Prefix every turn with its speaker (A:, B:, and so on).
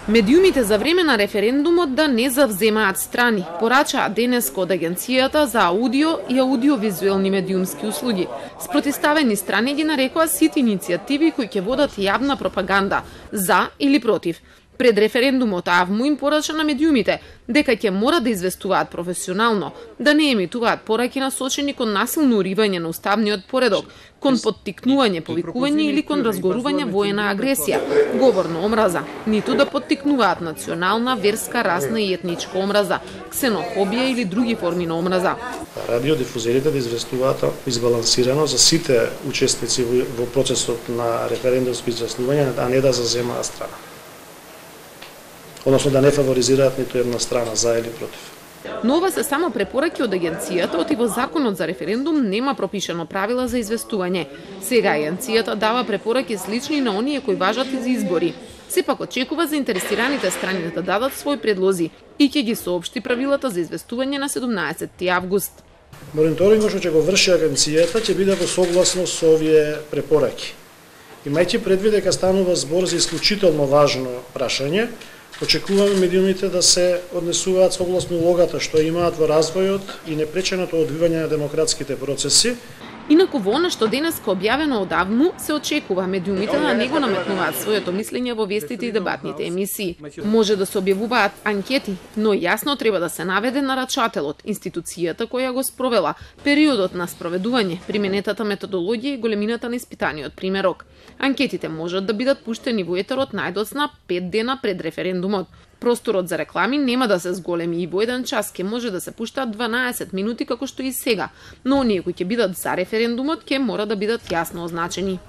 A: Медиумите за време на референдумот да не завземаат страни, порачаа денеска од Агенцијата за аудио и аудиовизуелни медиумски услуги. Спротивставени страни ги нарекоа сите иницијативи кои ќе водат јавна пропаганда за или против. Пред референдумот АВМУ им порача на медиумите дека ќе мора да известуваат професионално, да не емитуваат пораки насочени кон насилно уривање на уставниот поредок, кон поттикнување повикување или кон разгорување воена агресија, говор на омраза, ниту да поттикнуваат национална, верска, расна и етничка омраза, ксенофобија или други форми на омраза.
B: Радиодифузерите да известуваат избалансирано за сите учесници во процесот на референдумско изјаснување, а не да заземаат страна. Односно да не фаворизираат ниту една страна за или против.
A: Но ова се само препораки од Агенцијата, оти во Законот за референдум нема пропишано правила за известување. Сега Агенцијата дава препораки слични на оние кои важат и за избори. Сепак очекува заинтересираните страни да дадат своји предлози и ќе ги соопшти правилата за известување на 17 август.
B: Мониторингот што ќе го врши Агенцијата ќе биде во согласност со овие препораки. Имајќи предвид дека станува збор за исклучително важно прашање, очекуваме медиумите да се однесуваат согласно улогата што имаат во развојот и непреченото одвивање на демократските процеси.
A: Инаку во она што денеска објавено од АВМУ, се очекува медиумите да не го наметнуваат своето мислење во вестите и дебатните емисии. Може да се објавуваат анкети, но јасно треба да се наведе нарачателот, институцијата која го спровела, периодот на спроведување, применетата методологија и големината на испитаниот примерок. Анкетите можат да бидат пуштени во етерот најдоцна 5 дена пред референдумот. Просторот за реклами нема да се зголеми и во еден час ќе може да се пуштаат 12 минути како што и сега, но оние кои ќе бидат за референдумот ќе мора да бидат јасно означени.